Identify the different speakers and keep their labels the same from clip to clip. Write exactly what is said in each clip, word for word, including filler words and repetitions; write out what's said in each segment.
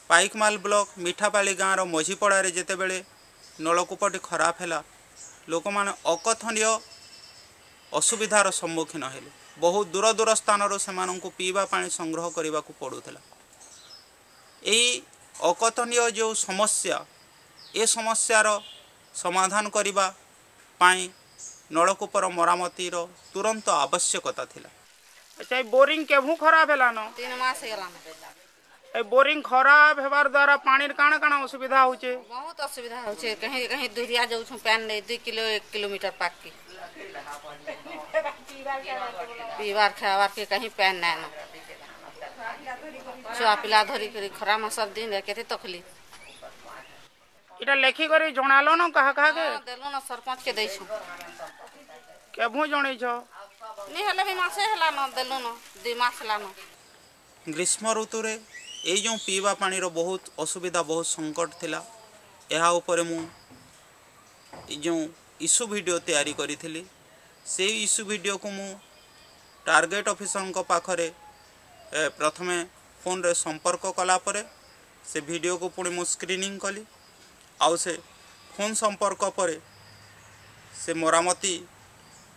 Speaker 1: Paikmal block Mithapali ଗାଁର ମଝିପଡ଼ାରେ ଯେତେବେଳେ ନଳକୂପଟି ଖରାପ ହେଲା, ଲୋକମାନେ ଅକଥନୀୟ ଅସୁବିଧାର ସମ୍ମୁଖୀନ ହେଲେ। ବହୁ ଦୂର ଦୂର ସ୍ଥାନରୁ ସେମାନଙ୍କୁ ପିଇବା ପାଣି ସଂଗ୍ରହ କରିବାକୁ ପଡ଼ୁଥିଲା। ଏଇ ଅକଥନୀୟ ଯେଉଁ ସମସ୍ୟା, ଏ ସମସ୍ୟାର ସମାଧାନ କରିବା ପାଇଁ ନଳକୂପର ମରାମତିର ତୁରନ୍ତ ଆବଶ୍ୟକତା ଥିଲା। ଆଚ୍ଛା, ଏଇ ବୋରିଂ କେଭୁ ଖରାପ ହେଲାନ?
Speaker 2: ତିନି ମାସ ହେଇଗଲାନ।
Speaker 1: ଏ ବୋରିଂ ଖରାପ ହେବାର ଦ୍ୱାରା ପାଣିର କାଣା କାଣା ଅସୁବିଧା ହଉଛେ?
Speaker 2: ବହୁତ ଅସୁବିଧା ହଉଛେ। କहीं କहीं ଦୁରିଆ ଯାଉଛୁ ପାନ୍ ନେଇ, ଦୁଇ କିଲୋ ଏକ କିଲୋମିଟର ପାଖକେ। ପିଇବାର ଖାଇବାର କେ କहीं ପାନ୍ ନାଇଁ ନା। ଛୁଆ ପିଲା ଧରିକରି ଖରା ମାସର ଦିନ କେତେ ତକଲିଫ।
Speaker 1: ଏଟା ଲେଖିକରି ଜଣାଲ ନ କାହା କାହାକେ?
Speaker 2: ଦେଲୁ ନା, ସରପଞ୍ଚ କେ ଦେଇଛୁ।
Speaker 1: କେଭୁ ଜଣେଇଛ?
Speaker 2: ନି ହେଲେ ବି ମାସେ ହେଲାନ ଦେଲୁ ନ, ଦୁଇ ମାସ ହେଲାନ।
Speaker 1: ଗ୍ରୀଷ୍ମ ଋତୁରେ ଏଇ ଯେଉଁ ପିଇବା ପାଣିର ବହୁତ ଅସୁବିଧା, ବହୁତ ସଙ୍କଟ ଥିଲା, ଏହା ଉପରେ ମୁଁ ଏଇ ଯେଉଁ ଇସ୍ୟୁ ଭିଡ଼ିଓ ତିଆରି କରିଥିଲି, ସେଇ ଇସ୍ୟୁ ଭିଡ଼ିଓକୁ ମୁଁ ଟାର୍ଗେଟ୍ ଅଫିସରଙ୍କ ପାଖରେ ପ୍ରଥମେ ଫୋନ୍ରେ ସମ୍ପର୍କ କଲା ପରେ ସେ ଭିଡ଼ିଓକୁ ପୁଣି ମୁଁ ସ୍କ୍ରିନିଂ କଲି, ଆଉ ସେ ଫୋନ୍ ସମ୍ପର୍କ ପରେ ସେ ମରାମତି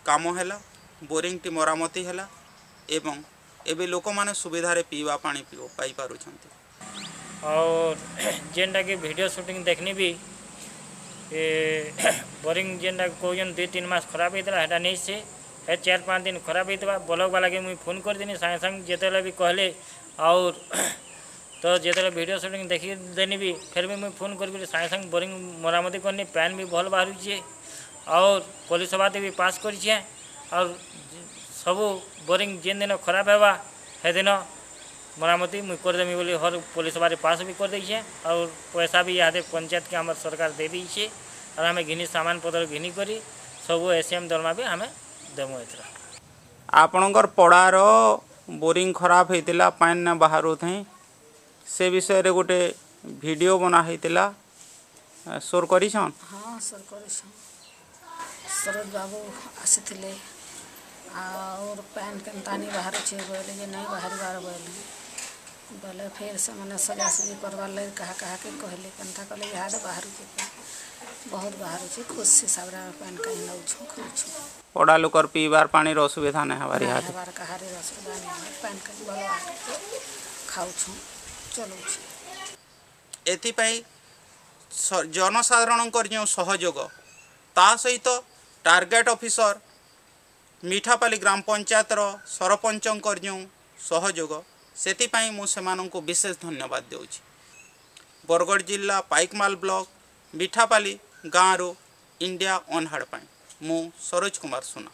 Speaker 1: କାମ ହେଲା, ବୋରିଂଟି ମରାମତି ହେଲା ଏବଂ ଏବେ ଲୋକମାନେ ସୁବିଧାରେ ପିଇବା ପାଣି ପାଇପାରୁଛନ୍ତି।
Speaker 3: ଆଉ ଯେନ୍ଟାକି ଭିଡ଼ିଓ ସୁଟିଂ ଦେଖିନି ବି, ଏ ବୋରିଂ ଯେନ୍ଟା କହୁଛନ୍ ଦୁଇ ତିନି ମାସ ଖରାପ ହେଇଥିଲା, ହେଟା ନେଇ ସେ ହେ ଚାରି ପାଞ୍ଚ ଦିନ ଖରାପ ହେଇଥିବା। ବ୍ଲକ୍ ବାଲାକେ ମୁଇଁ ଫୋନ୍ କରିଦେନି ସାଙ୍ଗେ ସାଙ୍ଗେ ଯେତେବେଳେ ବି କହିଲେ। ଆଉ ତ ଯେତେବେଳେ ଭିଡ଼ିଓ ସୁଟିଂ ଦେଖି ଦେନି ବି, ଫେର୍ ବି ମୁଇଁ ଫୋନ୍ କରିକି ସାଙ୍ଗେ ସାଙ୍ଗେ ବୋରିଂ ମରାମତି କରିନି। ପାନ୍ ବି ଭଲ ବାହାରୁଛେ ଆଉ ପୋଲିସ ସଭାତେ ବି ପାସ୍ କରିଛେ। ଆଉ ସବୁ ବୋରିଂ ଯେନ୍ ଦିନ ଖରାପ ହେବା, ସେଦିନ ମରାମତି ମୁଇଁ କରିଦେମି ବୋଲି ହର ପୋଲିସ ସଭାରେ ପାସ୍ ବି କରିଦେଇଛେ। ଆଉ ପଇସା ବି ଇହାଦେ ପଞ୍ଚାୟତକେ ଆମର ସରକାର ଦେଇ ଦେଇଛେ। ଆଉ ଆମେ ଘିନି ସାମାନ ପତ୍ର ଘିନି କରି ସବୁ ଏସ୍ ଏମ୍ ଦରମା ବି ଆମେ ଦେମୁ ଏଥର।
Speaker 1: ଆପଣଙ୍କର ପଡ଼ାର ବୋରିଂ ଖରାପ ହେଇଥିଲା, ପାଣି ନା ବାହାରୁଥାଇ, ସେ ବିଷୟରେ ଗୋଟେ ଭିଡ଼ିଓ ବନା ହେଇଥିଲା, ସୋର୍ କରିଛନ୍?
Speaker 4: ହଁ, ସୋର୍ କରିଛନ୍। ସରୋଜ ବାବୁ ଆସିଥିଲେ ଆଉ ପାନ୍ କେନ୍ତା ନି ବାହାରୁଛେ ବୋଇଲେ ଯେ ନାଇଁ ବାହାରିବାର ବୋଇଲେ ବୋଇଲେ ଫେର୍ ସେମାନେ ସଜାସଜି କରବାର୍ ଲାଗି କାହା କାହାକେ କହିଲେ, କେନ୍ତା କଲେ ଇହାଦେ ବାହାରୁଛେ, ବହୁତ ବାହାରୁଛେ। ଖୁସି ହିସାବରେ ଆମେ ପାନ୍ କାହିଁ ନେଉଛୁ, ଖାଉଛୁ।
Speaker 1: ପଡ଼ା ଲୋକର ପିଇବାର ପାଣିର ଅସୁବିଧା ନାଇଁ ହେବାର?
Speaker 4: ନାଇଁ ହେବାର, କାହାରି ଅସୁବିଧା ନାଇଁ ହେବାର। ପାନ୍ କାହିଁ ଭଲ ବାହାରୁଛେ, ଖାଉଛୁ, ଚଲଉଛୁ।
Speaker 1: ଏଥିପାଇଁ ଜନସାଧାରଣଙ୍କର ଯେଉଁ ସହଯୋଗ, ତା ସହିତ ଟାର୍ଗେଟ୍ ଅଫିସର ମିଠାପାଲି ଗ୍ରାମ ପଞ୍ଚାୟତର ସରପଞ୍ଚଙ୍କର ଯେଉଁ ସହଯୋଗ, ସେଥିପାଇଁ ମୁଁ ସେମାନଙ୍କୁ ବିଶେଷ ଧନ୍ୟବାଦ ଦେଉଛି। ବରଗଡ଼ ଜିଲ୍ଲା ପାଇକମାଲ ବ୍ଲକ ମିଠାପାଲି ଗାଁରୁ ଇଣ୍ଡିଆ ଅନହାର୍ଡ଼ ପାଇଁ ମୁଁ ସରୋଜ କୁମାର ସୁନା।